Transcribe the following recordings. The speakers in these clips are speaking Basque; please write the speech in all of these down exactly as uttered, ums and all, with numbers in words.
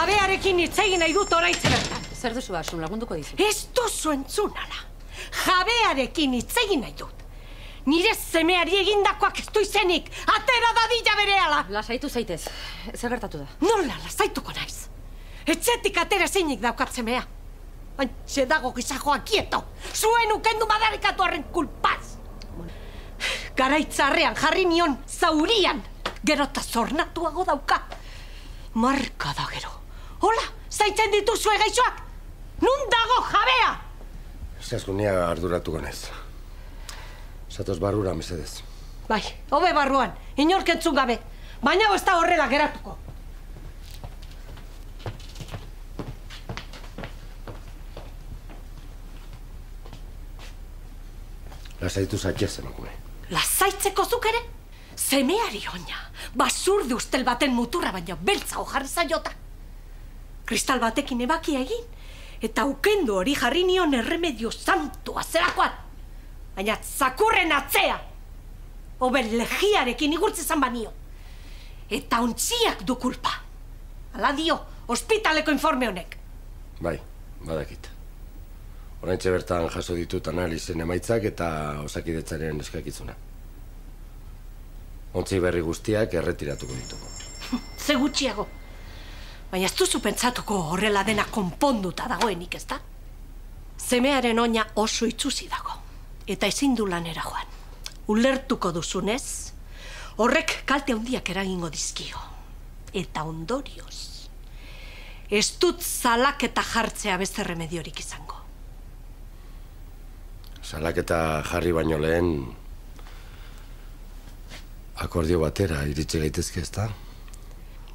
Jabearekin hitz egin nahi dut oraintxe bertan. Zer duzu Asun, lagunduko dizu? Ez duzu entzun ala. Jabearekin hitz egin nahi dut. Nire semeari egindakoak ez du izenik. Atera dadila berehala. Lasaitu zaitez. Zer gertatu da? Nola lasaituko naiz? Etxetik atera ezinik daukat semea. Antxe dago gizajoa kieto. Zuen ukendu madarikatu horren kulpaz. Garaitzarrean jarri nion zaurian. Gero eta zornatuago dauka. Marka da gero. Hola, zaintzen dituzue gaixoak. Nun dago jabea? Zazkunia arduratuko naiz. Zatoz barrura, mesedez. Bai, hobe barruan, inork entzun gabe. Baina ez da horrela geratuko. Lasaitu zakia emakume. Lasaitzeko zuk ere? Semeari oina, basurdi ustel baten muturra baina beltzago jarri zaiota. Kristal batekin ebakia egin, eta ukendu hori jarri nion erremedio santua zerakoan. Baina zakurren atzea, hoben legiarekin igurtze zan banio. Eta ontziak du kulpa. Hala dio, ospitaleko informe honek. Bai, badakit. Oraintxe bertan jaso ditut analizen emaitzak eta osakidetzaren eskakizuna. Ontzi berri guztiak erretiratuko ditugu. Ze gutxiago. Baina ez duzu pentsatuko horrela dena konponduta dagoenik, ez da? Semearen oina oso itsusi dago. Eta ezin du lanera joan. Ulertuko duzunez, horrek kalte handiak eragingo dizkio. Eta ondorioz, ez dut salaketa jartzea beste remediorik izango. Salaketa jarri baino lehen akordio batera iritsi gaitezke, ez da?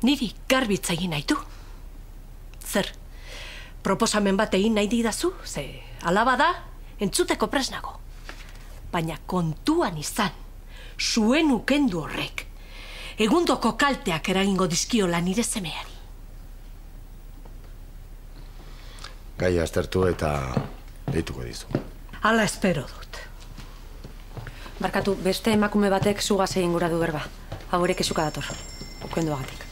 Niri garbitza egin nahi du. Zer, proposamen bat egin nahi didazu? Ze, alaba da, entzuteko presnago. Baina kontuan izan, zuen ukendu horrek, egundoko kalteak eragingo dizkiola nire semeari. Gaia aztertu eta deituko dizu. Hala espero dut. Barkatu, beste emakume batek zugaz egin gura du berba. Hau ere kesuka dator. Ukenduagatik.